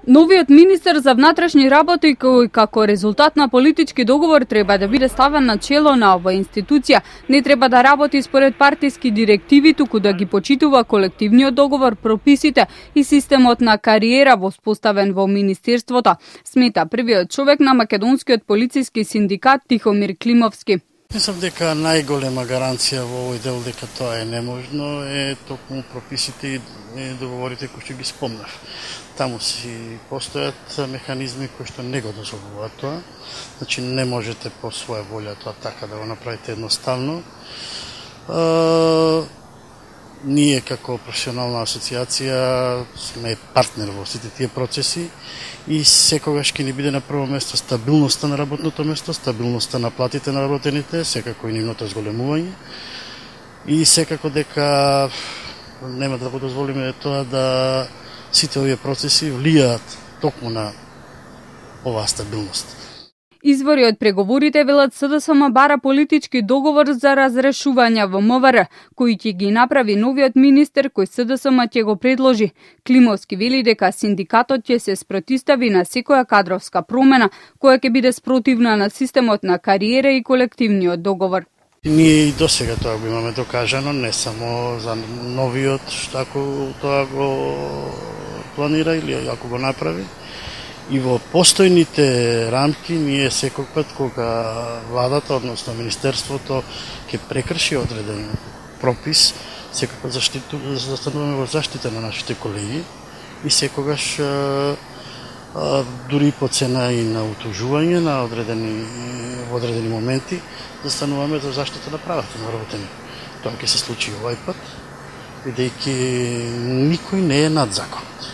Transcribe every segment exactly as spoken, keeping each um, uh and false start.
Новиот министер за внатрешни работи, кој како резултат на политички договор треба да биде ставен на чело на оваа институција, не треба да работи според партиски директиви, туку да ги почитува колективниот договор, прописите и системот на кариера воспоставен во министерството, смета првиот човек на македонскиот полициски синдикат Тихомир Климовски. Мислам дека најголема гаранција во овој дел дека тоа е неможно е токму прописите и договорите кои што ги спомнав. Таму си постојат механизми кои што не го дозволуваат тоа. Значи не можете по своја волја тоа така да го направите едноставно. Е, ние како професионална асоциација сме партнер во сите тие процеси и секогаш ќе ни биде на прво место стабилноста на работното место, стабилноста на платите на работените, секако и нивното зголемување и секако дека нема да го дозволиме тоа да сите овие процеси влијаат токму на оваа стабилност. Извори од преговорите велат СДСМ бара политички договор за разрешување во МВР, кој ќе ги направи новиот министер кој СДСМ ќе го предложи. Климовски вели дека синдикатот ќе се спротивстави на секоја кадровска промена која ќе биде спротивна на системот на кариера и колективниот договор. Ние и досега тоа го имаме докажано, не само за новиот, ако тоа го планира или ако го направи. И во постојните рамки ние секој пат кога владата, односно министерството, ќе прекрши одреден пропис, секој пат застануваме во заштита на нашите колеги и секогаш дури по цена и на утужување на одредени во одредени моменти застануваме за заштита на правата на работените. Тоа ќе се случи овој пат, бидејќи никој не е над законот.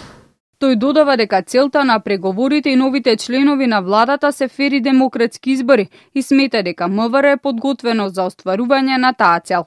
Тој додава дека целта на преговорите и новите членови на владата се фери демократски избори и смета дека МВР е подготвено за остварување на таа цел.